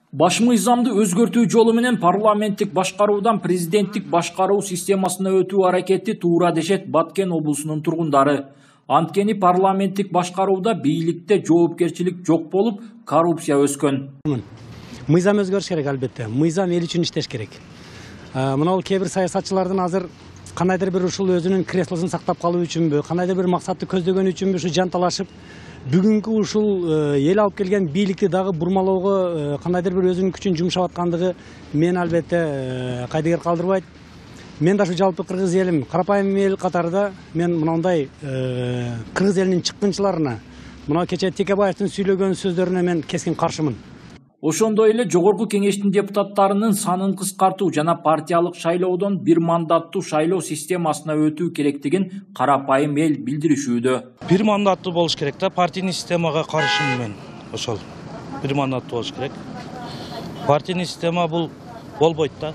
Баш мыйзамды өзгөртүү жолу менен парламенттик башкаруудан президенттик башкаруу системасына өтүү аракети туура дешет Баткен облусунун тургундары. Анткени парламенттик башкарууда бийликте жоопкерчилик жок болуп, коррупция өскөн. Мыйзам өзгөрүш керек албетте. Мыйзам эл үчүн иштеш керек. Мына кээ бир саясатчылардын азыр кандайдыр бир ушул өзүнүн креслосун сактап калуу үчүнбү, кандайдыр бир максатты көздөгөн үчүнбү ушу жанталашып, бүгүнкү ушул эл алып келген бийликти дагы бурмалоого кандайдыр бир өзүнүн күчүн жумшап аткандыгы мен албетте кайдыгер калтырбайт. Мен да ушу жалпы кыргыз элим, карапайым эл катарында мен мындай кыргыз элинин чыккынчыларына, мына кече Текебаевдин сүйлөгөн сөздөрүнө мен кескин каршымын. Ошондой эле жогорку кеңештин депутаттарынын санын кыскартуу жана партиялык шайлоодон бир мандаттуу шайлоо системасына өтүү керектигин карапайым эл билдиришүүдө. Бир мандаттуу болуш керек да, партийный системага каршымын мен. Ошол бир мандаттуу болуш керек. Партийный система бул болбойт да.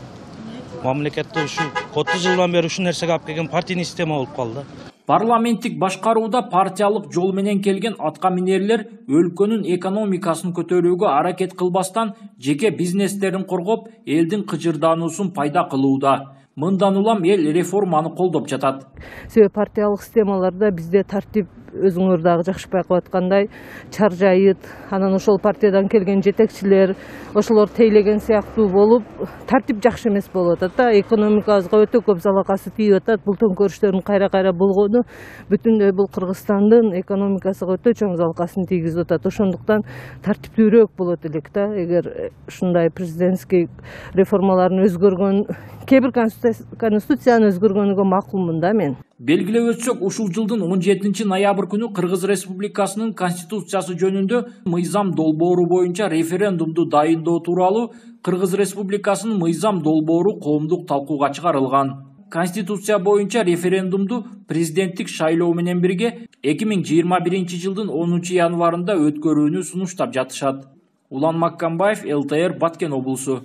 Мамлекетте ушу 30 жылдан бери ушул нерсеге алып келген партийный система болуп калды. Парламенттик башкарууда партиялык жол менен келген атка минерлер өлкөнүн экономикасын көтөрүүгө аракет кылбастан жеке бизнестерин коргоп, элдин кыжырдануусун пайда кылууда. Мындан улам эл реформаны колдоп жатат. Себеби партиялык системаларда бизде тартип өзүңөр дагы жакшы байкап аткандай чаржайыт, анан ошол партиядан келген жетекчилер ошолор тейлеген сыяктуу болуп, тартип жакшы эмес болуп атат да. Экономикабызга өтө көп залакасы тийип атат. Бул төңкөрүштөрдүн кайра болгону бүтүндөй бул Кыргызстандын экономикасына өтө чоң залакасын тийгизип атат. Ошондуктан тартиптүүрөөк болот элек да. Эгер ушундай президентский реформаларын өзгөргөн, кээ бир конституцияны өзгөргөнүгө макулмун да мен. Белгилеп өтсөк, ушул жылдын 17 ноябрь күнү Кыргыз Республикасынын конституциясы жөнүндө мыйзам долбоору боюнча референдумду дайындоо тууралуу Кыргыз Республикасынын мыйзам долбоору коомдук талкууга чыгарылган. Конституция боюнча референдумду президенттик шайлоо менен бирге 2021 жылдын 10 январында өткөрүүнү сунуштап жатышат. Улан Маккамбаев, ЛТР, Баткен облусу.